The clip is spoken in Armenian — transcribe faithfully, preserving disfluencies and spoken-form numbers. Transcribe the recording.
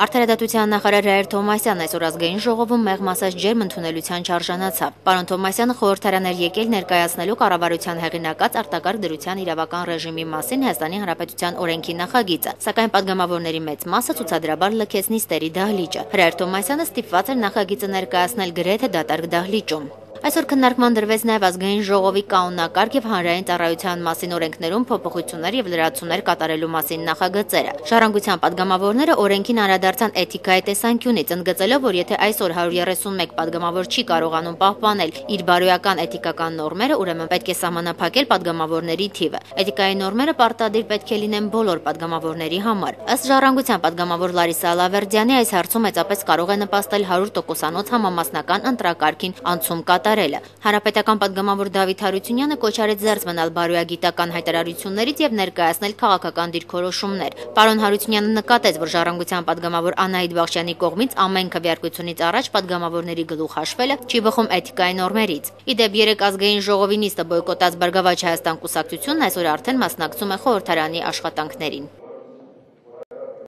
Արդարադատության նախարար Ռաեր Թովմասյանն այսօր ազգային ժողովում մեղմ ասած ջերմ ընդունելության չարժանացավ։ Պարոն Թովմասյանը խորհրդարան էր եկել ներկայացնելու կառավարության հեղինակած արտակարգ դրության իրավական ռեժիմի մասին Հայաստանի Հանրապետության օրենքի նախագիծը, սակայն падգամավորների մեծ մասը ցուցադրաբար լքեց նիստերի դահլիճը։ Ռաեր Թովմասյանը ստիպված էր նախագիծը ներկայացնել գրեթե դատարկ դահլիճում։ Այսօր քննարկման դրվեց նաև ազգային ժողովի կանոնակարգ եւ հանրային ծառայության մասին օրենքներում փոփոխություններ եւ լրացումներ կատարելու մասին նախագծերը։ Ժառանգության падգամավորները օրենքին անդրադարձան էթիկայի տեսանկյունից, ընդգծելով, որ եթե այսօր հարյուր երեսունմեկ падգամավոր չի կարողանում պահպանել իր բարոյական էթիկական նորմերը, ուրեմն պետք է սահմանափակել падգամավորների թիվը։ Էթիկայի նորմերը պարտադիր պետք է լինեն բոլոր падգամավորների համար։ Ըստ Ժառանգության падգամավոր Լարիսա Ալավերդյանի, այս հարցում մեծապես կարող է նպաստել հարյուր տոկոսանոց համամասնական ընտրակարգին անցում կատարելը։ Հանրապետական падգամավոր Դավիթ Հարությունյանը կոչ արեց զերծ մնալ բարոյագիտական հայտարարություններից եւ ներկայացնել քաղաքական դիրքորոշումներ։ Պարոն Հարությունյանը նկատեց, որ Ժառանգության падգամավոր Անահիտ Բախշյանի կողմից ամեն քվեարկությունից առաջ падգամավորների գլուխ հաշվելը չի բխում էթիկայի նորմերից։ Իդեպ երեք ազգային ժողովի նիստը բոյկոտած Բարգավաճ Հայաստան կուսակցությունն այսօր արդեն մասնակցում է խորհրդարանի աշխատանքներին։